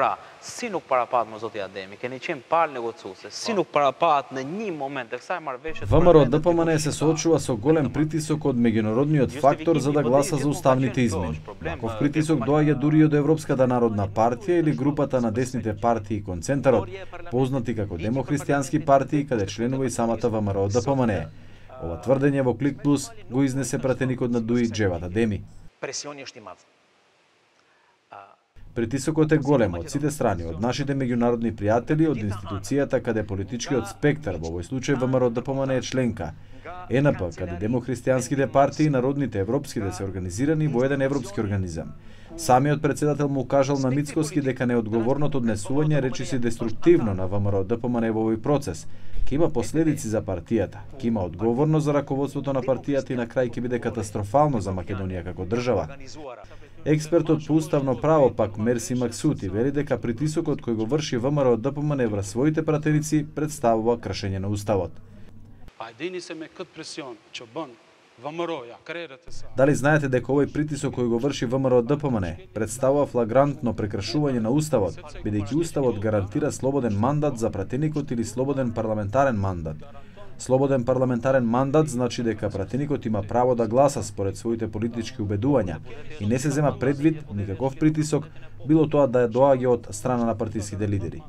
Pra, si nuk parapat më zoti Ademi, keni qenë palë negociuese, si nuk parapat në një moment e kësaj marrëveshje. ВМРО ДПМН се соочува со голем притисок од меѓународниот фактор за да гласа за уставните измени. Ваков притисок доаѓа дури од Европската народна партија или групата на десните партии Концентарот, познати како демохристијански партии, каде членува и самата ВМРО ДПМН. Ова тврдење во Клик Плюс го изнесе пратеникот на ДУИ Джеват Адеми. Притисокот е голем од сите страни, од нашите меѓународни пријатели, од институцијата каде политичкиот спектар, во овој случај ВМРО ДПМН е членка, ЕНП, каде демохристијанските партии и народните европските се организирани во еден европски организам. Самиот председател му кажал на Мицкоски дека неодговорното однесување речиси деструктивно на ВМРО ДПМН во овој процес ќе има последици за партијата, ќе има одговорност за раководството на партијата и на крај ќе биде катастрофално за Македонија како држава. Експертот по уставно право пак Мерси Максути вели дека притисокот кој го врши ВМРО ДПМН врз своите пратеници представува кршење на уставот. Дали знаете дека овој притисок кој го врши ВМРО ДПМН представува флагрантно прекршување на уставот, бидејќи уставот гарантира слободен мандат за пратеникот или слободен парламентарен мандат. Слободен парламентарен мандат значи дека пратеникот има право да гласа според своите политички убедувања и не се зема предвид никаков притисок, било тоа да доаѓа од страна на партиските лидери.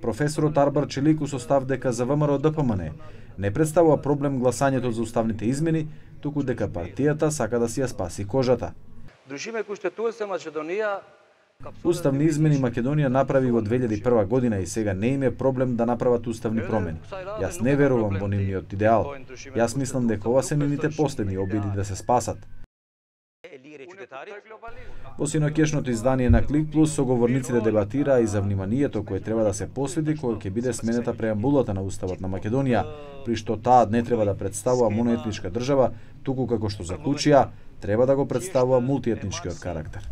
Професорот Арбар Челику состав дека за ВМРО ДПМН не представува проблем гласањето за уставните измени, туку дека партијата сака да си ја спаси кожата. Уставни измени Македонија направи во 2001 година и сега не им е проблем да направат уставни промени. Јас не верувам во нивниот идеал. Јас мислам дека ова се нивните последни обиди да се спасат. Во синоќешното издание на Клик Плюс соговорниците дебатираа и за вниманието кое треба да се посвети кога ќе биде сменета преамбулата на Уставот на Македонија, при што таа не треба да представува моноетничка држава, туку како што заклучија, треба да го представува мултиетничкиот карактер.